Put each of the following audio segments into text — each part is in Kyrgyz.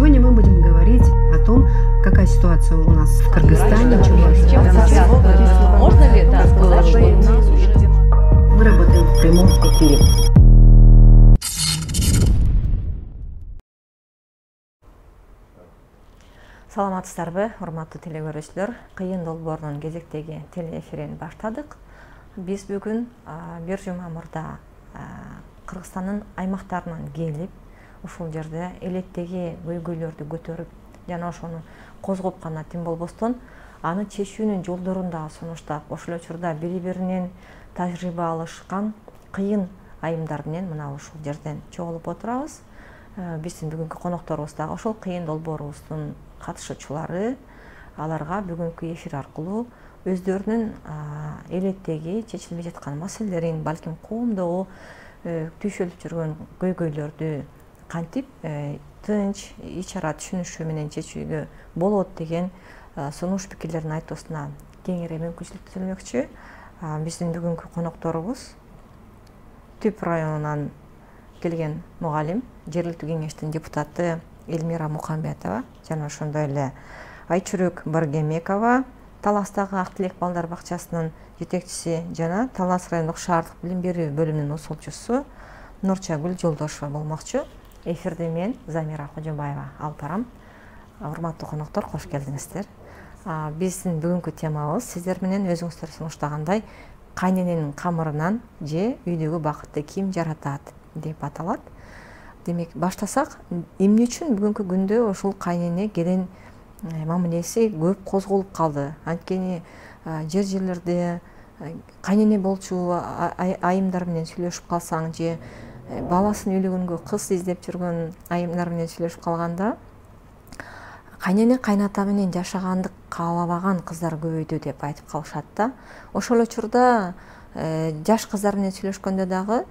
Сегодня мы будем говорить о том, какая ситуация у нас в Кыргызстане. Можно ли это сказать, что у нас уже... Мы работаем в прямом эфире. Саламатсыздарбы, урматтуу телекөрүүчүлөр. Кыйын долбоорунун кезектеги телеэфирин баштадык. Биз бүгүн бир жума мурда Кыргызстандын аймактарынан келип, ушул жерде элеттеги көйгөйлөрдү көтөрүп, жана ошону козгоп гана тим болбостон, аны чечүүнүн жолдорун дагы сунуштап, ошол учурда бири-биринен тажрыйба алышкан кыйын айымдар менен мына ушул жерден чогулуп отурабыз. Биздин бүгүнкү конокторубуз дагы ошол кыйын долбоорубуздун катышуучулары. Аларга бүгүнкү эфир аркылуу өздөрүнүн элеттеги чечилбей жаткан маселелерин, балким коомдогу түйшөлүп жүргөн көйгөйлөрдү кантип тынч, ич ара түшүнүшүү менен чечүүгө болот деген сунуш пикирлерин айтуусуна кеңири мүмкүнчүлүк түзүлмөкчү. Биздин бүгүнкү конокторубуз Түп районунан келген мугалим, жергиликтүү кеңештин депутаты Элмира Мукамбетова жана ошондой эле Айчүрөк Баргемекова, Таластагы Ак Тилек балдар бакчасынын жетекчиси жана Талас райондук шаардык билим берүү бөлүмүнүн усулчусу Нурчагүл Жолдошова болмокчу. Эфирди мен Замира Кожобаева алып барам. Урматтуу коноктор, кош келдиңиздер. Биздин бүгүнкү темабыз сиздер менен өзүңүздөр сунуштагандай кайнененин камырынан же үйдөгү бакытты ким жаратат деп аталат. Демек, баштасак, эмне үчүн бүгүнкү күндө ушул кайнене келин мамилеси көп козголуп калды? Анткени жерлерде кайнене болчу айымдар менен сүйлөшүп калсаң же баласын үйлөгөнгө кыз издеп жүргөн айымдар менен сүйлөшүп калганда кайнене кайната менен жашаганды каалабаган кыздар көбөйдү деп айтып калышат да. Ошол учурда жаш кыздар менен сүйлөшкөндө дагы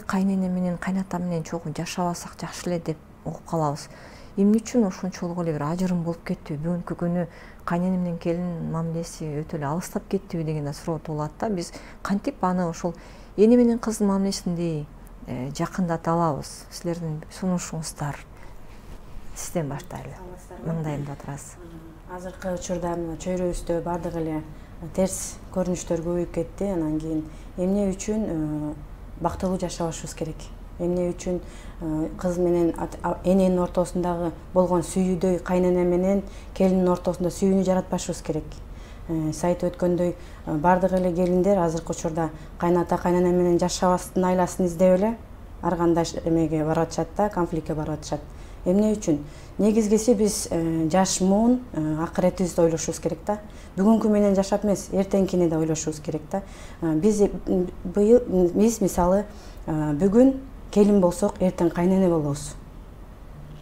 кайнене менен кайната менен чогуу жашабасак жакшы эле деп угуп калабыз. Эмне үчүн ошончолук эле бир ажырым болуп кеттү? Бүгүнкү күнү кайнене менен келин мамилеси өтө эле алыстап кеттиби деген да суроо туулат да. Биз кантип аны ошол эне менен кыздын мамилесиндей жакындата алабыз? Силердин сунушуңуздар. Сизден баштайлы. Маңдайымда турасыз. Азыркы учурда чөйрөбүздө бардык эле терс көрүнүштөр көбөйүп кетти. Анан кийин эмне үчүн бактылуу жашабашыбыз керек? Эмне үчүн кыз менен эненин ортосундагы болгон сүйүүдөй кайнене менен келиндин ортосунда сүйүүнү жаратпашыбыз керек? Сиз айтып өткөндөй бардык эле келиндер азыркы учурда кайната кайнене менен жашабастын айласын издеп эле ар кандай эмеге барып атышат да, конфликтке барып атышат. Эмне үчүн? Негизгиси биз жаш муун акыретибизди ойлошубуз керек да. Бүгүнкү менен жашап эмес, эртеңкини да ойлошубуз керек да. Биз мисалы бүгүн келин болсок, эртең кайнене болобуз.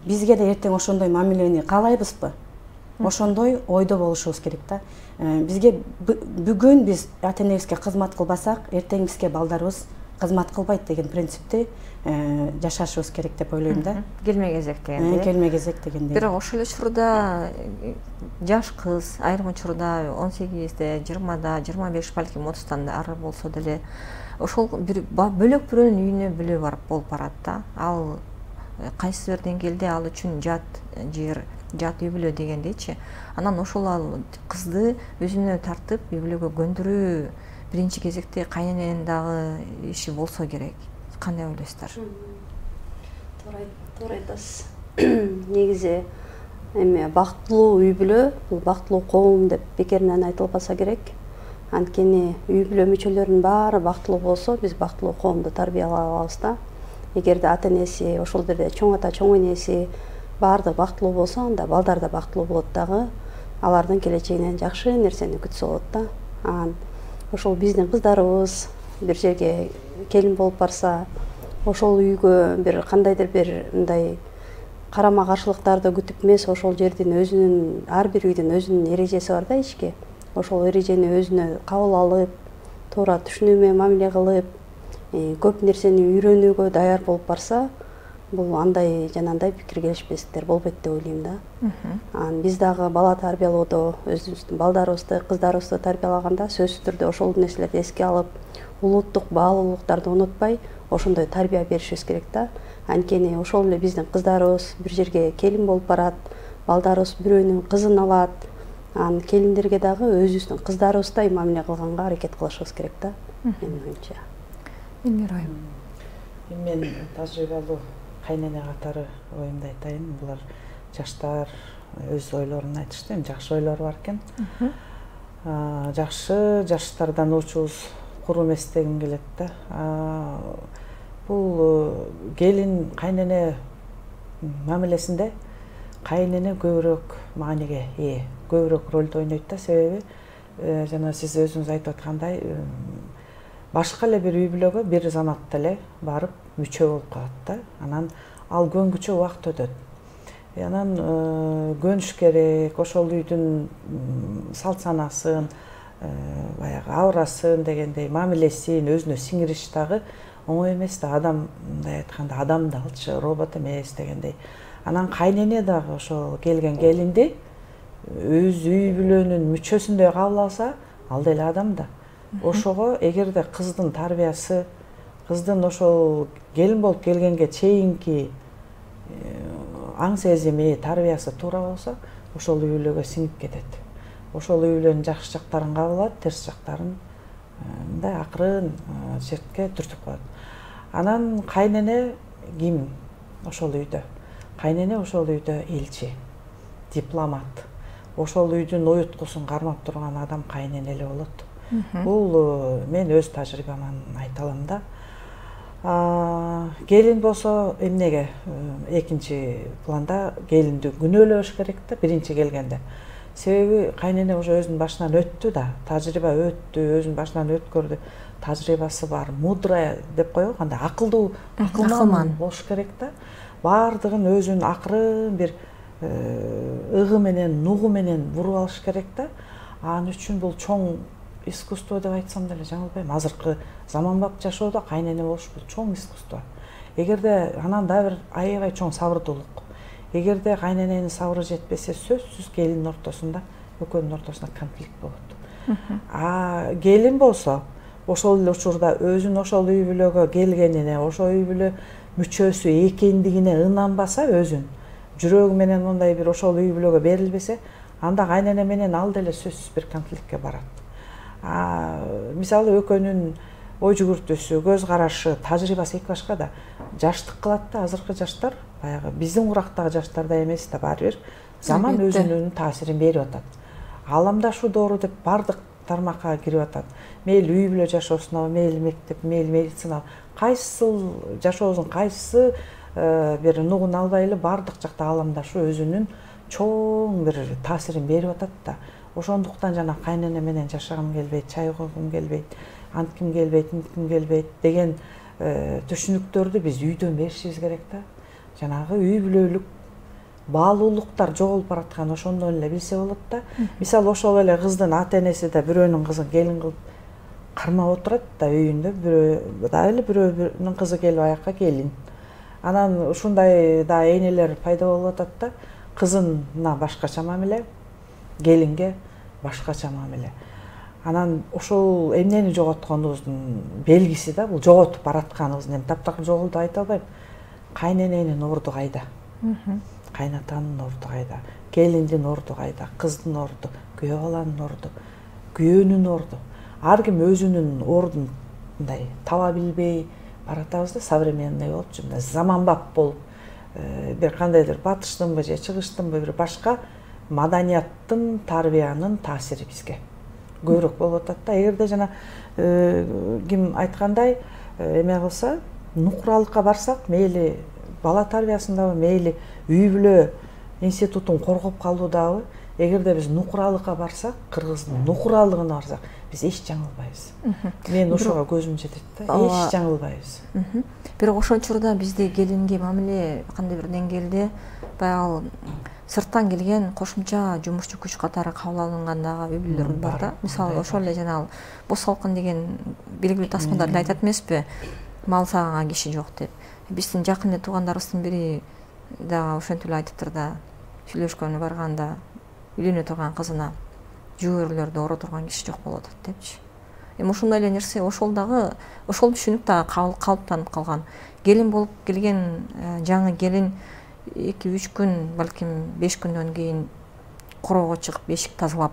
Бизге да эртең ошондой мамилени каалайбызбы? Ошондой ойдо болушубуз керек да. Бизге бүгүн биз ата-энебизге кызмат кылбасак, эртең бизге балдарыбыз кызмат кылбайт деген принципти жашашыбыз керек деп ойлойм да. Келме кезек дегенде. Келме кезек дегенде. Бирок ошол учурда жаш кыз айрым учурда 18-де, 20-да, 25 балким 30-тан ары болсо деле ошол бөлөк бирөөнүн үйүнө бүлө барып болуп барат да. Ал кайсы бир деңгээлде ал үчүн жат жер, жат үй бүлө дегендейчи. Анан ошол ал кызды өзүнө тартып үй бүлөгө көндүрүү биринчи кезекте кайнененин дагы иши болсо керек. Кандай ойлойсуздар? Туура айтасыз. Негизи эми бактылуу үй бүлө, бул бактылуу коом деп бекеринен айтылбаса керек. Анткени үй бүлө мүчөлөрүнүн баары бактылуу болсо, биз бактылуу коомду тарбиялай алабыз да. Эгерде ата-энеси, ошол жерде чоң ата, чоң энеси баардыгы бактылуу болсо, анда балдар да бактылуу болот дагы. Алардын келечегинен жакшы нерсени күтсө болот да. Ошол биздин кыздарыбыз бир жерге келин болуп барса, ошол үйгө бир кандайдыр бир мындай карама каршылыктарды күтүп эмес, ошол жердин өзүнүн ар бир үйдүн өзүнүн эрежеси бар да ички. Ошол эрежени өзүнө кабыл алып, туура түшүнүү менен мамиле кылып, көп нерсени үйрөнүүгө даяр болуп барса, бул андай жанагындай пикир келишпестиктер болбойт деп ойлойм да. Биз дагы бала тарбиялоодо өзүбүздүн балдарыбызды, кыздарыбызды тарбиялаганда сөзсүз түрдө ошол нерселерди эске алып, улуттук баалуулуктарды унутпай, ошондой тарбия беришибиз керек да. анткени ошол эле биздин кыздарыбыз бир жерге келин болуп барат, балдарыбыз бирөөнүн кызын алат. Анан келиндерге дагы өзүбүздүн кыздарыбыздай мамиле кылганга аракет кылышыбыз керек да, менин оюмча. Элмира айым. Мен тажрыйбалуу кайнене катары оюмду айтайын. Булар жаштар өз ойлорун айтышты. Эми жакшы ойлор бар экен. Жакшы жаштардан учубуз куру эмес дегим келет да. Бул келин кайнене мамилесинде кайнене көбүрөөк мааниге ээ, көбүрөөк ролду ойнойт да. Себеби жана сиз өзүңүз айтып аткандай башка эле бир үй бүлөгө бир заматта эле барып мүчө болуп калат да. Анан ал көнгүчө убакыт өтөт. Анан көнүш керек, ошол үйдүн салт санасын, баягы абырасын дегендей мамилесин өзүнө сиңириш дагы оңой эмес да. Адам мындай айтканда адам да алчу, робот эмес дегендей. Анан кайнене дагы ошол келген келинди өз үй бүлөнүн мүчөсүндөй кабыл алса, ал деле адам да. Ошого эгерде кыздын тарбиясы, кыздын ошол келин болуп келгенге чейинки аң сезими, тарбиясы туура болсо, ошол үй бүлөгө сиңип кетет. Ошол үй бүлөнүн жакшы жактарын кабыл алат, терс жактарын мындай акырын четке түртүп коет. Анан кайнене ким ошол үйдө? Кайнене ошол үйдө элчи, дипломат. Ошол үйдүн уюткусун кармап турган адам кайнене эле болот. Бул мен өз тажрыйбаман айта алам да. Келин болсо эмнеге экинчи планда келинди күнөөлөш керек да биринчи келгенде. Себеби кайнене уже өзүнүн башынан өттү да, тажрыйба өттү, өзүнүн башынан өткөрдү, тажрыйбасы бар, мудрая деп коебу, кандай акылдуу, акылман болуш керек да. Бардыгын өзүнүн акырын бир ыгы менен, нугу менен буруп алыш керек да. Анын үчүн бул чоң искусство деп айтсам деле жаңылбайм. Азыркы заманбап жашоодо кайнене болуш бул чоң искусство. Эгерде анан да бир аябай чоң сабырдуулук. Эгерде кайнененин сабыры жетпесе, сөзсүз келиндин ортосунда, экөөнүн ортосунда конфликт болот. Келин болсо, ошол эле учурда өзүнүн ошол үй бүлөгө келгенине, ошол үй бүлө мүчөсү экендигине ынанбаса, өзүн жүрөгү менен мындай бир ошол үй бүлөгө берилбесе, анда кайнене менен ал деле сөзсүз бир конфликтке барат. Мисалы экөөнүн ой жүгүртүүсү, көз карашы, тажрыйбасы эки башка да. Жаштык кылат да, азыркы жаштар баягы биздин урактагы жаштардай эмес да, баары бир заман өзүнүн таасирин берип атат. Ааламдашуу доору деп бардык тармакка кирип атат. Мейли үй бүлө жашоосуна, мейли мектеп, мейли медицина, кайсыл жашообуздун кайсы бир нугун албайлы бардык жакта ааламдашуу өзүнүн чоң бир таасирин берип атат да. Ошондуктан жана кайнене менен жашагым келбейт, чай койгум келбейт, антким келбейт, мынтким келбейт деген түшүнүктөрдү биз үйдөн беришибиз керек да. Жанагы үй бүлөлүк баалуулуктар жоголуп бараткан ошондон эле билсе болот да. Мисалы ошол эле кыздын ата энеси да бирөөнүн кызын келин кылып кармап отурат да үйүндө, бирөө дагы эле бирөөнүн кызы келип аякка келин. Анан ушундай да энелер пайда болуп атат да. Кызына башкача мамиле, келинге башкача мамиле. Анан ошол эмнени жоготконубуздун белгиси да, бул жоготуп баратканыбыздын. Эми таптакыр жоголду айта албайм. Кайнененин орду кайда? Кайнатанын орду кайда? Келиндин орду кайда? Кыздын орду, күйөө баланын орду, күйөөнүн орду. Ар ким өзүнүн ордун мындай таба билбей баратабыз да, современный болупчу, мындай заманбап болуп, бир кандайдыр батыштынбы же чыгыштынбы бир башка маданияттын, тарбиянын таасири бизге көбүрөөк болуп атат да. Эгерде жана ким айткандай эме кылса, нукуралыкка барсак, мейли бала тарбиясындабы, мейли үй бүлө институтун коргоп калуудабы, эгерде биз нукуралыкка барсак, кыргыздын нукуралыгына барсак, биз эч жаңылбайбыз. Мен ошого көзүм жетет да, эч жаңылбайбыз. Бирок ошол учурда бизде келинге мамиле кандай бир деңгээлде баягы сырттан келген кошумча жумушчу күч катары кабыл алынган дагы үй бүлөлөр бар да. Мисалы ошол эле жанагы бос салкын деген белгилүү тасмадар эле айтат эмеспи? Мал сагынга киши жок деп. Биздин жакын эле туугандарыбыздын бири дагы ошентип эле айтыптыр да, сүйлөшкөнү барганда үйлөнө турган кызына жүгөрүлөрдү оро турган киши жок болуп атат депчи. эми ошондой эле нерсе ошол түшүнүк дагы калыптанып калган. Келин болуп келген жаңы келин 2-3 күн, балким 5 күндөн кийин короого чыгып эшик тазалап,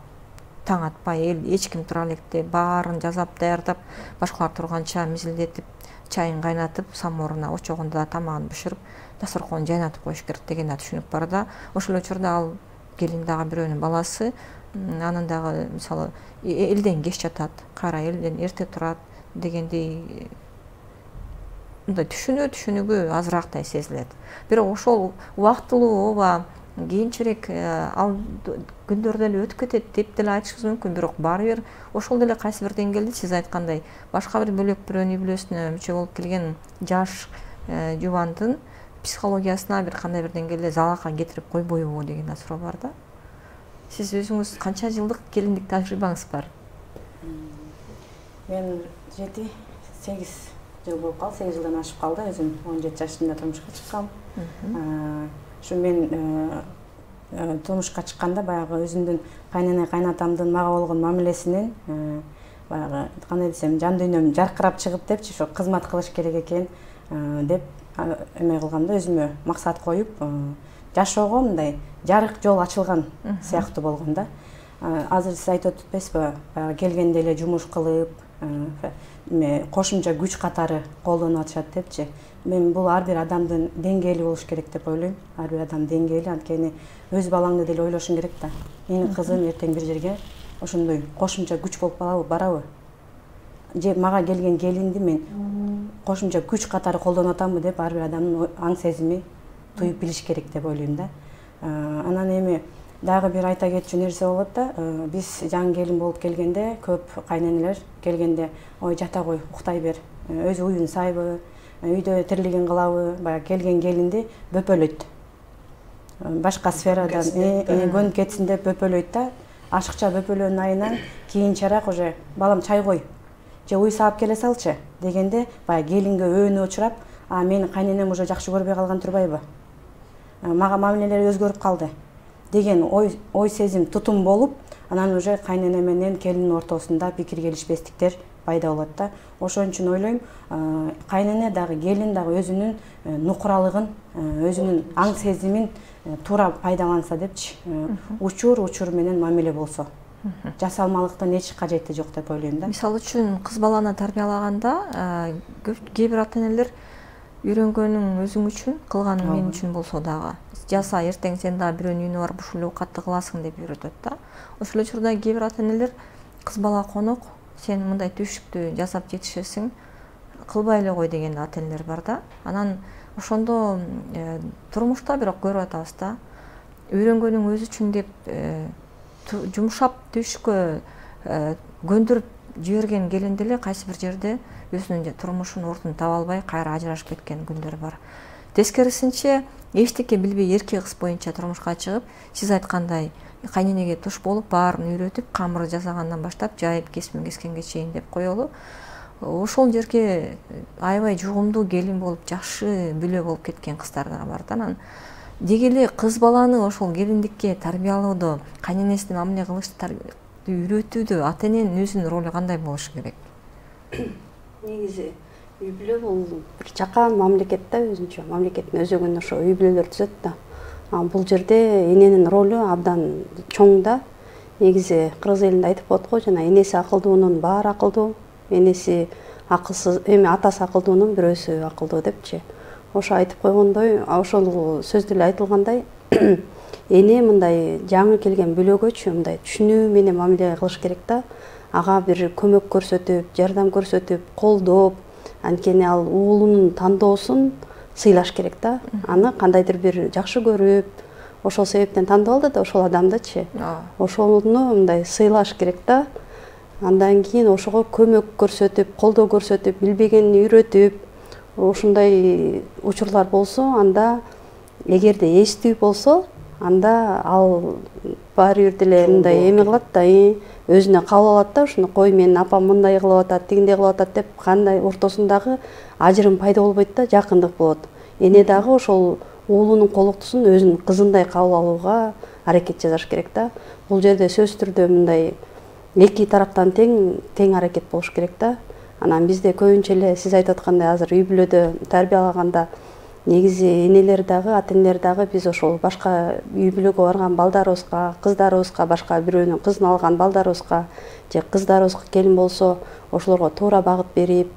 таң атпай эч ким тура электе баарын жасап даярдап, башкалар турганча мизилдетип, чайын кайнатып, самооруна очогунда да тамагын бышырып, дасторконун жайнатып коюш керек деген да түшүнүк бар да. Ошол учурда ал келин дагы бирөөнүн баласы, анын дагы мисалы элден кеч жатат, кайра элден эрте турат дегендей мындай түшүнүгү азырактай сезилет. Бирок ошол убактылуу ооба кийинчерээк ал күндөрдө эле өтүп кетет деп деле айтышыбыз мүмкүн. Бирок баары бир ошол деле кайсы бир деңгээлде сиз айткандай башка бир бөлөк бирөөнүн үй бүлөсүнө мүчө болуп келген жаш жубандын психологиясына бир кандай бир деңгээлде залалга кетирип койбойбу деген да суроо бар да. Сиз өзүңүз канча жылдык келиндик тажрыйбаңыз бар? Мен 7-8 жыл болуп калды, 8 жылдан ашып калды. Өзүм 17 жашымда турмушка чыккам. Ушу мен турмушка чыкканда баягы өзүмдүн кайнене кайнатамдын мага болгон мамилесинен баягы кандай десем, жан дүйнөм жаркырап чыгып депчи, ошо кызмат кылыш керек экен деп эме кылгам да, өзүмө максат коюп, жашоого мындай жарык жол ачылган сыяктуу болгон да. Азыр сиз айтып өтпөйсүзбү, баягы келгенде эле жумуш кылып, кошумча күч катары колдонуп атышат депчи. Мен бул ар бир адамдын деңгээли болуш керек деп ойлойм. Ар бир адам деңгээли, анткени өз балаңды деле ойлошуң керек да. Менин кызым эртең бир жерге ошондой кошумча күч болуп барабы? Же мага келген келинди мен кошумча күч катары колдонуп атамбы деп ар бир адамдын аң сезими туюп билиш керек деп ойлойм да. Анан эми дагы бир айта кетчү нерсе болот да. Биз жаңы келин болуп келгенде көп кайненелер келгенде ой жата кой, уктай бер, өзү уюн сайбы, үйдө тирлигин кылабы, баягы келген келинди бөпөлөйт. Башка сферадан көнүп кетсин деп бөпөлөйт да. Ашыкча бөпөлөөнүн айынан кийинчерээк уже балам чай кой, же уй саап келе салчы дегенде баягы келинге өөнү очурап, менин кайненем уже жакшы көрбөй калган турбайбы? Мага мамилелери өзгөрүп калды деген ой сезим тутум болуп, анан уже кайнене менен келиндин ортосунда пикир келишпестиктер пайда болот да. Ошон үчүн ойлойм, кайнене дагы келин дагы өзүнүн нукуралыгын, өзүнүн аң сезимин туура пайдаланса депчи, учур менен мамиле болсо, жасалмалыктын эч кажети жок деп ойлойм да. Мисалы үчүн кыз баланы тарбиялаганда кээ бир ата энелер үйрөнгөнүң өзүң үчүн, кылганың мен үчүн болсо дагы жаса, эртең сен дагы бирөөнүн үйүнө барып ушул эле оокатты кыласың деп үйрөтөт да. Ошол учурда кээ бир ата энелер кыз бала конок, сен мындай түйшүктү жасап жетишесиң, кылбай эле кой деген ата энелер бар да. Анан ошондо турмушта бирок көрүп атабыз да, үйрөнгөнүң өзү үчүн деп жумшап түйшүккө көндүрүп жиберген келин деле кайсы бир жерде өзүнүн турмушунун ордун таба албай кайра ажырашып кеткен күндөр бар. Тескерисинче эчтеке билбей эрке кыз боюнча турмушка чыгып, сиз айткандай кайненеге туш болуп, баарын үйрөтүп, камыр жасагандан баштап жайып кесмин кескенге чейин деп коелу. Ошол жерге аябай жугумдуу келин болуп, жакшы бүлө болуп кеткен кыздар да бар да. Анан деги эле кыз баланы ошол келиндикке тарбиялоодо, кайненесине мамиле кылышты үйрөтүүдө ата эненин өзүнүн ролу кандай болушу керек? Негизи үй бүлө бул бир жакан мамлекет да, өзүнчө мамлекеттин өзөгүн ошо үй бүлөлөр түзөт да. Бул жерде эненин ролу абдан чоң да. Негизи кыргыз элинде айтып коет го, жана энеси акылдуунун баары акылдуу, энеси акылсыз, эми атасы акылдуунун бирөөсү акылдуу депчи. Ошо айтып койгондой, ошол сөздө эле айтылгандай, эне мындай жаңы келген бүлөгөчү мындай түшүнүү менен мамиле кылыш керек да. Ага бир көмөк көрсөтүп, жардам көрсөтүп, колдоп, анткени ал уулунун тандоосун сыйлаш керек да. Аны кандайдыр бир жакшы көрүп, ошол себептен тандап алды да ошол адамдычы. Ошону мындай сыйлаш керек да. Андан кийин ошого көмөк көрсөтүп, колдоо көрсөтүп, билбегенин үйрөтүп, ушундай учурлар болсо, анда эгерде эстүү болсо, анда ал баары бир деле мындай эме кылат да, өзүнө кабыл алат да, ушуну кой менин апам мындай кылып атат, тигиндей кылып атат деп кандай ортосундагы ажырым пайда болбойт да, жакындык болот. Эне дагы ошол уулунун колуктусун өзүнүн кызындай кабыл алууга аракет жасаш керек да. Бул жерде сөзсүз түрдө мындай эки тараптан тең аракет болуш керек да. Анан бизде көбүнчө эле сиз айтып аткандай азыр үй бүлөдө тарбиялаганда негизи энелер дагы, ата энелер дагы биз ошол башка үй бүлөгө барган балдарыбызга, кыздарыбызга, башка бирөөнүн кызын алган балдарыбызга же кыздарыбызга келин болсо ошолорго туура багыт берип,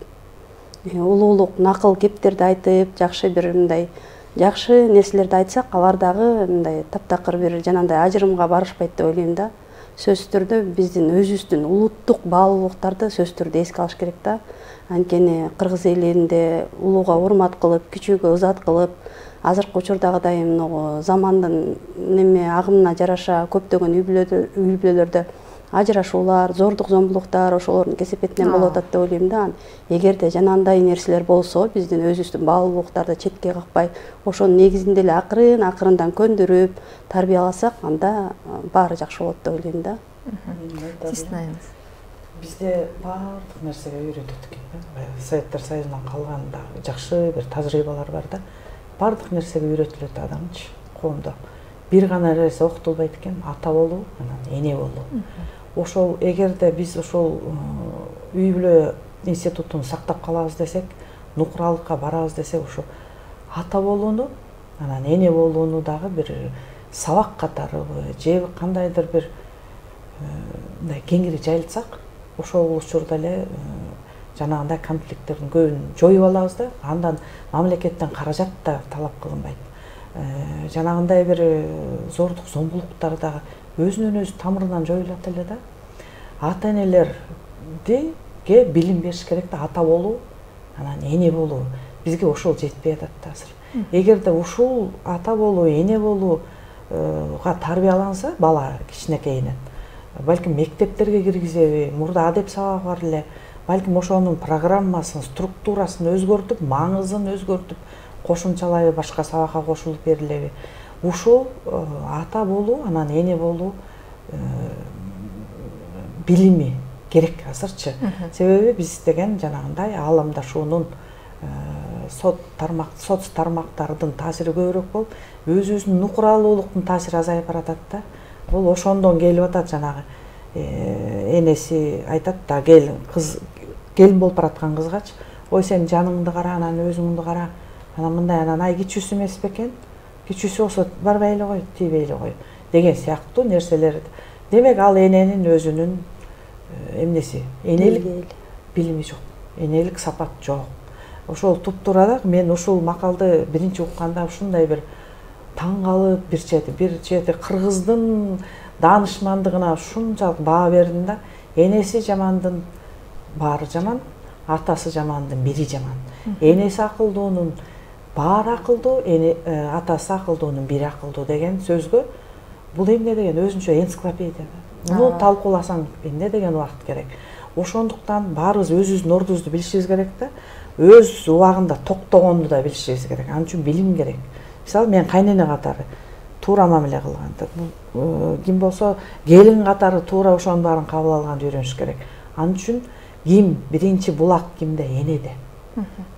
улуулук накыл кептерди айтып, жакшы бир мындай жакшы нерселерди айтсак, алар дагы мындай таптакыр бир жанагындай ажырымга барышпайт деп ойлойм да. Сөзсүз түрдө биздин өзүбүздүн улуттук баалуулуктарды сөзсүз түрдө эске алыш керек да. Анткени кыргыз элинде улууга урмат кылып, кичүүгө ызат кылып, азыркы учурдагыдай могу замандын агымына жараша көптөгөн үй бүлөлөрдө ажырашуулар, зордук зомбулуктар ошолордун кесепетинен болуп атат деп ойлойм да. Эгерде жанагындай нерселер болсо, биздин өзүбүздүн баалуулуктарды четке какпай, ошонун негизинде эле акырындан көндүрүп тарбияласак, анда баары жакшы болот деп ойлойм да. Сиздин Бизде баардык нерсеге үйрөтөт экен. Советтер Союзунан калган да жакшы бир тажрыйбалар бар да. Баардык нерсеге үйрөтүлөт адамчы коомдо. Бир гана нерсе окутулбайт экен, ата болуу, анан эне болуу. Ошол эгерде биз ошол үй бүлө институтун сактап калабыз десек, нукуралыкка барабыз десек, ошо ата болууну, анан эне болууну дагы бир сабак катарыбы же кандайдыр бир мындай кеңири жайылтсак, ошол учурда эле жанагындай конфликттердин көбүн жоюп алабыз да. Андан мамлекеттен каражат да талап кылынбайт. Жанагындай бир зордук зомбулуктар дагы өзүнөн өзү тамырынан жоюлат эле да. Ата энелерге билим бериш керек да, ата болуу, анан эне болуу. Бизге ошол жетпей атат да азыр. Эгерде ушул ата болуу, эне болууга тарбияланса бала кичинекейинен, балким мектептерге киргизеби, мурда адеп сабагы бар эле, балким ошонун программасын, структурасын өзгөртүп, маңызын өзгөртүп, кошумчалайбы, башка сабакка кошулуп берилеби. Ушул ата болуу, анан эне болуу билими керек азырчы. Себеби биз деген жанагындай аламдашуунун соц тармактардын таасири көбүрөөк болуп, өзүбүздүн нукуралуулуктун таасири азайып баратат да. Бул ошондон келип атат. Жанагы энеси айтат да, келин болуп бараткан кызгачы, ой сен жаныңды кара, анан өзүңдү кара, анан мындай, анан ай кичүүсү эмес бекен, кичүүсү болсо барбай эле кой, тийбей эле кой деген сыяктуу нерселер. Демек ал эненин өзүнүн эмнеси, энелик билими жок, энелик сапат жок. Ошол туптурада мен ушул макалды биринчи укканда ушундай бир таң калып, бир чети кыргыздын даанышмандыгына ушунчалык баа бердим да. Энеси жамандын баары жаман, атасы жамандын бири жаман. Энеси акылдуунун баары акылдуу, атасы акылдуунун бири акылдуу деген сөзгө бул эмне деген өзүнчө энциклопедия. Муну талкууласаң эмне деген убакыт керек. Ошондуктан баарыбыз өзүбүздүн ордубузду билишибиз керек да. Өз убагында токтогонду да билишибиз керек. Ал үчүн билим керек. Мисалы мен кайнене катары туура мамиле кылган. Ким болсо келин катары туура ошонун баарын кабыл алганды үйрөнүш керек. Ал үчүн ким биринчи булак кимде? Энеде.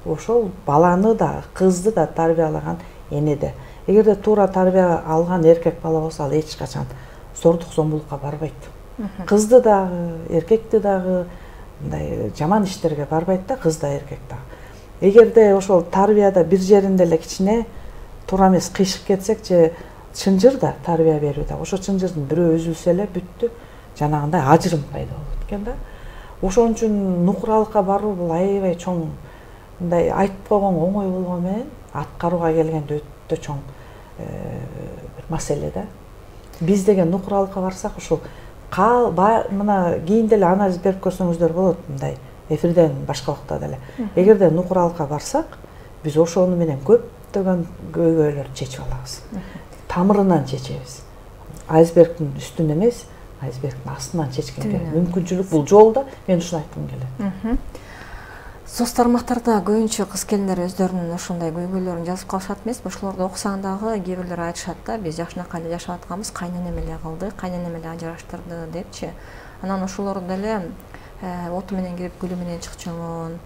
Ошол баланы да, кызды да тарбиялаган энеде. Эгерде туура тарбия алган эркек бала болсо, ал эч качан зордук зомбулукка барбайт. Кызды дагы, эркекти дагы мындай жаман иштерге барбайт да, кыз да, эркек да. Эгерде ошол тарбияда бир жеринде эле кичине туура эмес кыйшык кетсек же чынжыр да тарбия берүүдө, ошо чынжырдын бирөө үзүлсө эле бүттү, жанагындай ажырым пайда болот экен да. Ошон үчүн нукуралыкка баруу бул аябай чоң, мындай айтып койгон оңой болгону менен аткарууга келгенде өтө чоң бир маселе да. Биз деген нукуралыкка барсак ушул мына кийин деле анализ берип көрсөңүздөр болот, мындай эфирден башка убакта деле. Эгерде нукуралыкка барсак, биз ошону менен көптөгөн көйгөйлөрдү чечип алабыз. Тамырынан чечебиз. Айсбергдин үстүн эмес, айсбергдин астынан чечкенге мүмкүнчүлүк бул жолдо. Мен ушуну айткым келет. Соц тармактарда көбүнчө кыз келиндер өздөрүнүн ошондой көйгөйлөрүн жазып калышат эмеспи? Ошолорду окусаң дагы кээ бирлер айтышат да, биз жакшынакай эле жашап атканбыз, кайненем эле кылды, кайненем эле ажыраштырды депчи. Анан ошолорду деле оту менен кирип гүлү менен чыкчумун,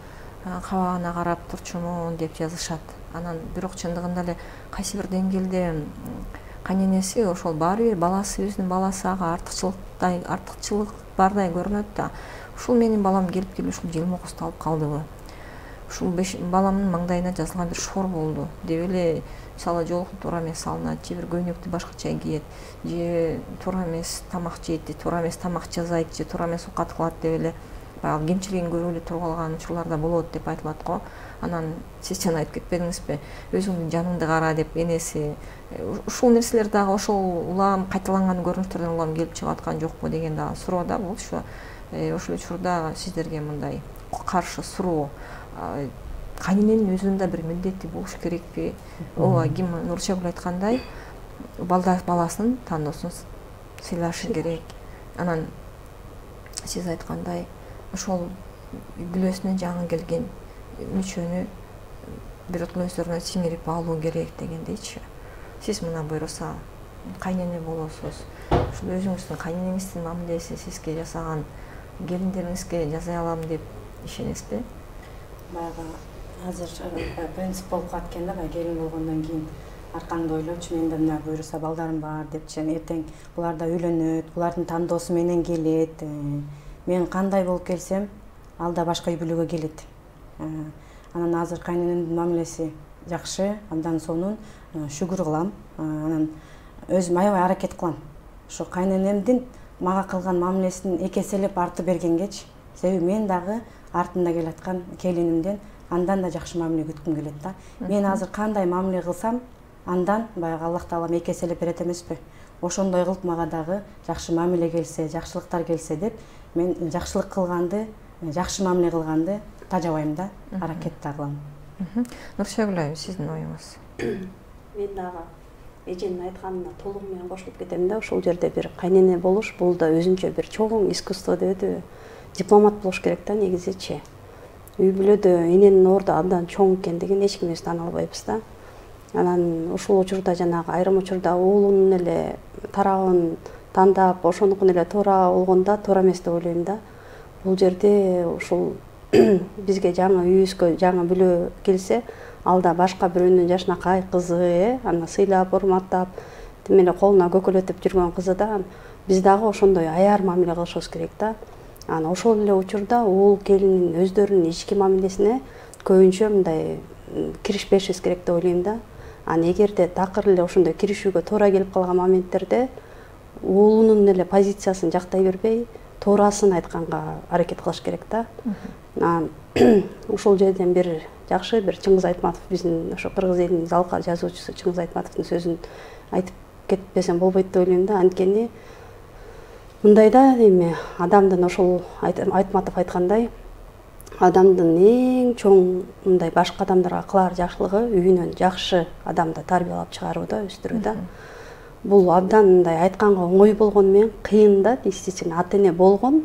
кабагына карап турчумун деп жазышат. Анан бирок чындыгында эле кайсы бир деңгээлде кайненеси ошол баары бир баласы өзүнүн баласы ага артыкчылык бардай көрүнөт да. Ушул менин балам келип ушул жылмоокусту алып калдыбы? Ушул баламдын маңдайына жазылган бир шор болду деп эле мисалы жолукту туура эмес салынат, же бир көйнөктү башкача кийет, же туура эмес тамак жейт, же туура эмес тамак жасайт, же туура эмес оокат кылат деп эле баягы кемчилигин көрүп эле туруп алган учурларда болот деп айтылат го. Анан сиз жана айтып кетпедиңизби, өзүңдүн жаныңды кара деп энеси. Ушул нерселер дагы ошол улам кайталанган көрүнүштөрдөн улам келип чыгып аткан жокпу деген дагы суроо да болчу. Ошол учурда сиздерге мындай каршы суроо кайнененин өзүнүн да бир милдети болуш керекпи? Ооба, ким Нурчагүл айткандай, баласынын тандоосун сыйлашы керек. Анан сиз айткандай ошол бүлөсүнөн жаңы келген мүчөнү биротоло өздөрүнө сиңирип алуу керек дегендейчи. Сиз мына буйруса кайнене болосуз. Ушул өзүңүздүн кайненеңиздин мамилеси сизге жасаган келиндериңизге жасай алам деп ишенесизби? Баягы азыр принцип болуп калат экен да, баягы келин болгондон кийин аркаңды ойлочу, менде мына буйруса балдарым бар депчи, эртең булар да үйлөнөт, булардын тандоосу менен келет. Мен кандай болуп келсем, ал да башка үй бүлөгө келет. Анан азыр кайненемдин мамилеси жакшы, абдан сонун, шүгүр кылам. Анан өзүм аябай аракет кылам. Ошо кайненемдин мага кылган мамилесин эки эселеп арты бергенгечи, себеби мен дагы артында келаткан келинимден андан да жакшы мамиле күткүм келет да. Мен азыр кандай мамиле кылсам, андан баягы Аллах Таалам эки эселеп берет эмеспи? Ошондой кылып мага дагы жакшы мамиле келсе, жакшылыктар келсе деп, мен жакшылык кылганды, жакшы мамиле кылганды тажабайм да, аракет да кылам. Нурчагүл айым, сиздин оюңуз? Мен дагы эженин айтканына толугу менен кошулуп кетем да. Ошол жерде бир кайнене болуш, бул да өзүнчө бир чоң искусство дебедиби? Дипломат болуш керек да негизичи. Үй бүлөдө эненин орду абдан чоң экендигин эч кимибиз таана албайбыз да. Анан ушул учурда жанагы айрым учурда уулунун эле тарабын тандап, ошонукун эле туура болгондо туура эмес деп ойлойм да. Бул жерде ушул бизге жаңы үйүбүзгө жаңы бүлө келсе, ал да башка бирөөнүн жашынакай кызы, аны сыйлап, урматтап, тим эле колуна көкөлөтүп жүргөн кызы да. Биз дагы ошондой аяр мамиле кылышыбыз керек да. Анан ошол эле учурда уул келиндин өздөрүнүн ички мамилесине көбүнчө мындай киришпешибиз керек деп ойлойм да. Анан эгерде такыр эле ошондой киришүүгө туура келип калган моменттерде уулунун эле позициясын жактай бербей, туурасын айтканга аракет кылыш керек да. Ушул жерден бир жакшы бир Чыңгыз Айтматов, биздин ошо кыргыз элинин залка жазуучусу Чыңгыз Айтматовдун сөзүн айтып кетпесем болбойт деп ойлойм да. Анткени мындайда эми адамдын ошол Айтматов айткандай, адамдын эң чоң мындай башка адамдарга кылар жакшылыгы үйүнөн жакшы адамды тарбиялап чыгаруу да, өстүрүү да. Бул абдан мындай айтканга оңой болгону менен кыйын да, действительно ата эне болгон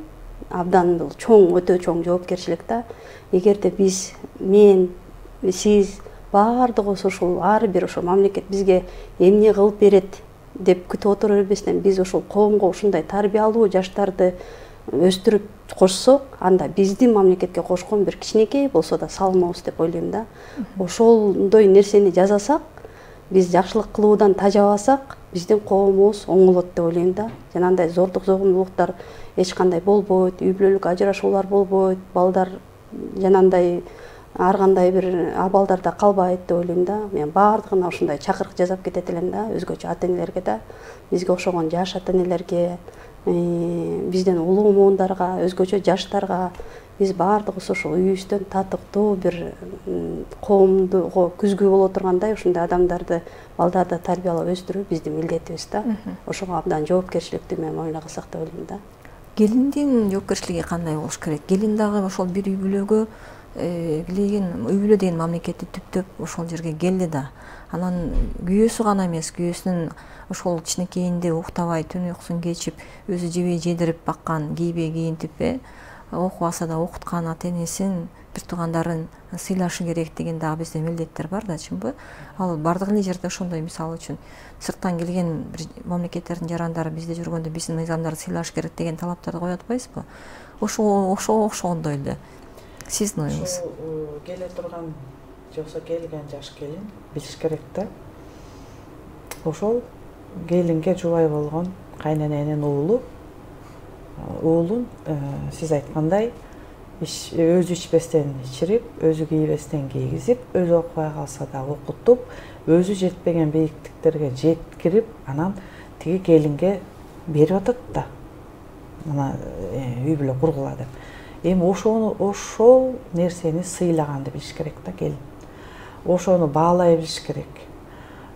абдан бул чоң, өтө чоң жоопкерчилик да. Эгерде биз, мен, сиз баардыгыбыз ушул ар бир ошо мамлекет бизге эмне кылып берет деп күтүп отура бербестен биз ошол коомго ушундай тарбиялуу жаштарды өстүрүп кошсок, анда биздин мамлекетке кошкон бир кичинекей болсо да салымыбыз деп ойлойм да. Ошондой нерсени жасасак, биз жакшылык кылуудан тажабасак, биздин коомубуз оңолот деп ойлойм да. Жанагындай зордук зогумдуулуктар эч кандай болбойт, үй бүлөлүк ажырашуулар болбойт, балдар жанагындай ар кандай бир абалдарда калбайт деп ойлойм да. Мен баардыгына ушундай чакырык жасап кетет элем да, өзгөчө ата энелерге да, бизге окшогон жаш ата энелерге, бизден улуу муундарга, өзгөчө жаштарга, биз баардыгыбыз ошол үйүбүздөн татыктуу бир коомдуго күзгү боло тургандай ушундай адамдарды, балдарды тарбиялап өстүрүү биздин милдетибиз да. Ошого абдан жоопкерчиликтүү мен мамиле кылсак деп ойлойм да. Келиндин жоопкерчилиги кандай болуш керек? Келин дагы ошол бир үй бүлөгө үй бүлө деген мамлекетти түптөп ошол жерге келди да. Анан күйөөсү гана эмес, күйөөсүнүн ошол кичинекейинде уктабай, түн уйкусун кечип, өзү жебей жедирип баккан, кийбей кийинтип, окубаса да окуткан ата энесин, бир туугандарын сыйлашы керек деген дагы бизде милдеттер бар да, чынбы? Ал бардык эле жерде ошондой, мисалы үчүн сырттан келген бир мамлекеттердин жарандары бизде жүргөндө биздин мыйзамдарды сыйлаш керек деген талаптарды коюп атпайсызбы? Ошого окшогондой эле. Сиздин оюңуз? Келе турган же болсо келген жаш келин билиш керек да. Ошол келинге жубай болгон кайнененин уулун сиз айткандай өзү ичпестен ичирип, өзү кийбестен кийгизип, өзү окубай калса да окутуп, өзү жетпеген бийиктиктерге жеткирип, анан тиги келинге берип атат да. Мына үй бүлө кургула деп. Эми ошол нерсени сыйлаганды билиш керек да келин. Ошону баалай билиш керек.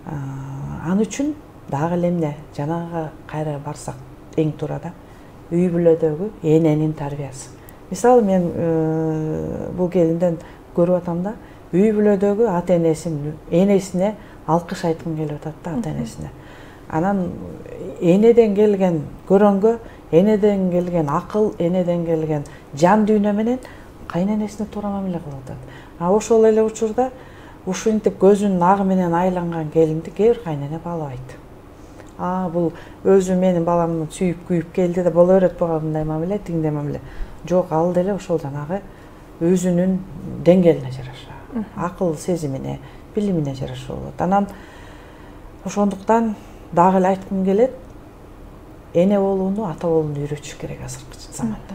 Ал үчүн дагы эле эмне, жанагы кайра барсак эң туура да, үй бүлөдөгү эненин тарбиясы. Мисалы мен бул келинден көрүп атам да, үй бүлөдөгү ата энесине алкыш айткым келип атат да, ата энесине. Анан энеден келген көрөнгө, энеден келген акыл, энеден келген жан дүйнө менен кайненесине туура мамиле кылып атат. Ошол эле учурда ушинтип көзүнүн агы менен айланган келинди кээ бир кайнене баалабайт. Бул өзү менин баламды сүйүп күйүп келди да боло берет буга мындай мамиле, тигиндей мамиле. Жок, ал деле ошол жанагы өзүнүн деңгээлине жараша, акыл сезимине, билимине жараша болот. Анан ошондуктан дагы эле айткым келет, эне болууну, ата болууну үйрөтүш керек азыркы заманда.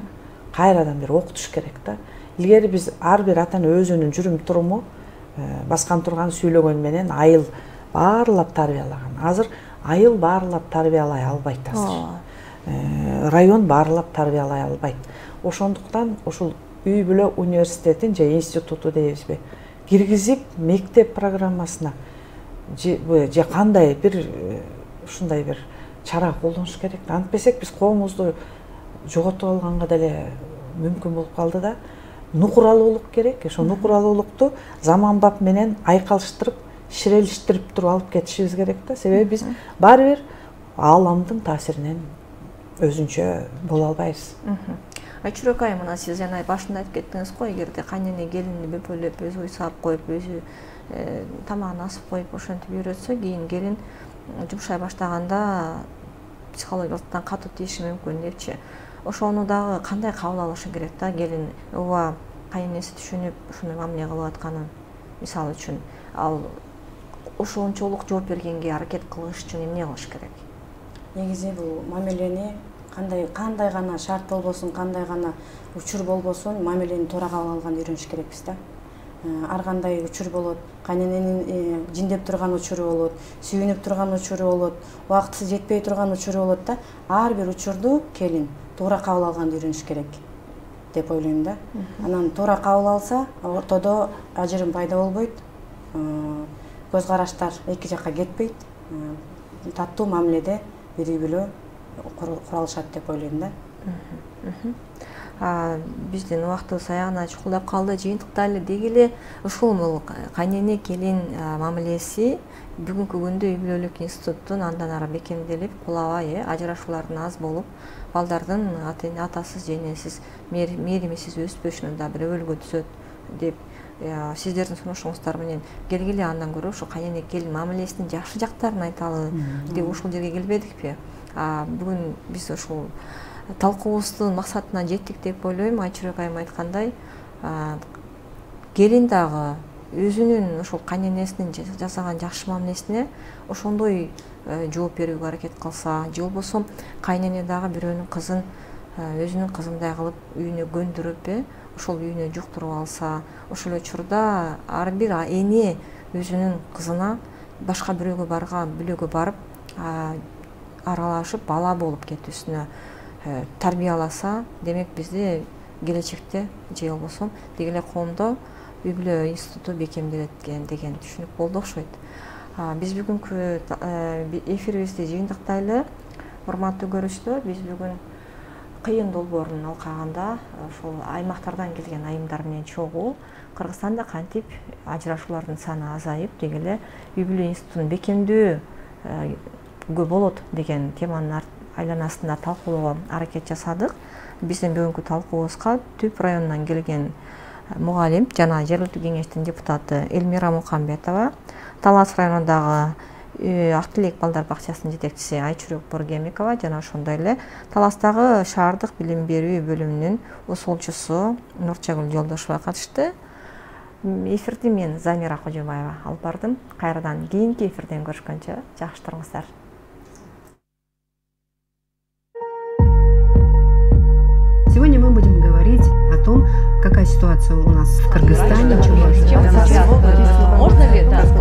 Кайрадан бир окутуш керек да. Илгери биз ар бир ата эне өзүнүн жүрүм туруму, баскан турган сүйлөгөн менен айыл баарлап тарбиялаган. Азыр айыл баарлап тарбиялай албайт азыр. Район баарлап тарбиялай албайт. Ошондуктан ушул үй бүлө университетин же институту дейбизби, киргизип мектеп программасына же кандай бир ушундай бир чара колдонуш керек. Антпесек биз коомубузду жоготуп алганга деле мүмкүн болуп калды да. Нукуралуулук керек. Ошо нукуралуулукту заманбап менен айкалыштырып, ширелиштирип туруп алып кетишибиз керек да. Себеби биз баары бир ааламдын таасиринен өзүнчө боло албайбыз. Айчүрөк айым, мына сиз жана башында айтып кеттиңиз го, эгерде кайнене келинди бөпөлөп, өзү үй саап коюп, өзү тамагын асып коюп, ошентип үйрөтсө, кийин келин жумшай баштаганда психологиялыктан катуу тийиши мүмкүн депчи. Ошону дагы кандай кабыл алышы керек да келин? Ооба, кайненеси түшүнүп ушуну мамиле кылып атканын, мисалы үчүн, ал ошончолук жооп бергенге аракет кылыш үчүн эмне кылыш керек? Негизи бул мамилени кандай гана шарт болбосун, кандай гана учур болбосун, мамилени туура кабыл алганды үйрөнүш керекпиз да. Ар кандай учур болот, кайнененин жиндеп турган учуру болот, сүйүнүп турган учуру болот, убактысы жетпей турган учуру болот да. Ар бир учурду келин туура кабыл алганды үйрөнүш керек деп ойлойм да. Анан туура кабыл алса, ортодо ажырым пайда болбойт, көз караштар эки жакка кетпейт, таттуу мамиледе бир үй бүлө куралышат деп ойлойм да. Биздин убактыбыз аягына чукулдап калды. Жыйынтыкта эле деги эле ушул кайнене келин мамилеси бүгүнкү күндө үй бүлөлүк институттун андан ары бекемделип, кулабай, ажырашуулардын аз болуп, балдардын атасыз же энесиз, мээримисиз өспөшүнө да бир өбөлгө түзөт деп сиздердин сунушуңуздар менен келгиле, андан көрө ушу кайнене келин мамилесинин жакшы жактарын айталы деп ушул жерге келбедикпи? Бүгүн биз ушул талкуубуздун максатына жеттик деп ойлойм. Айчүрөк айым айткандай, келин дагы өзүнүн ушул кайненесинин жасаган жакшы мамилесине ошондой жооп берүүгө аракет кылса, же болбосо кайнене дагы бирөөнүн кызын өзүнүн кызындай кылып үйүнө көндүрүп, ошол үйүнө жуктуруп алса, ошол учурда ар бир эне өзүнүн кызына башка бирөөгө бүлөгө барып аралашып бала болуп кетүүсүнө тарбияласа, демек бизде келечекте же болбосо деги эле коомдо үй бүлө институту бекемделет деген түшүнүк болду окшойт. Биз бүгүнкү эфирибизди жыйынтыктайлы. Урматтуу көрүүчүлөр, биз бүгүн кыйын долбоорун алкагында ошол аймактардан келген айымдар менен чогуу Кыргызстанда кантип ажырашуулардын саны азайып, деги эле үй бүлө институтун бекемдөөгө болот деген теманын айланасында талкуулоого аракет жасадык. Биздин бүгүнкү талкуубузга Түп районунан келген мугалим жана жергиликтүү кеңештин депутаты Элмира Мукамбетова, Талас районундагы Ак Тилек балдар бакчасынын жетекчиси Айчүрөк Боргемикова жана ошондой эле Таластагы шаардык билим берүү бөлүмүнүн усулчусу Нурчагүл Жолдошова катышты. Эфирди мен Замира Кожобаева алып бардым. Кайрадан кийинки эфирден көрүшкөнчө жакшы туруңуздар. какая ситуация у нас в Кыргызстане. Можно ли это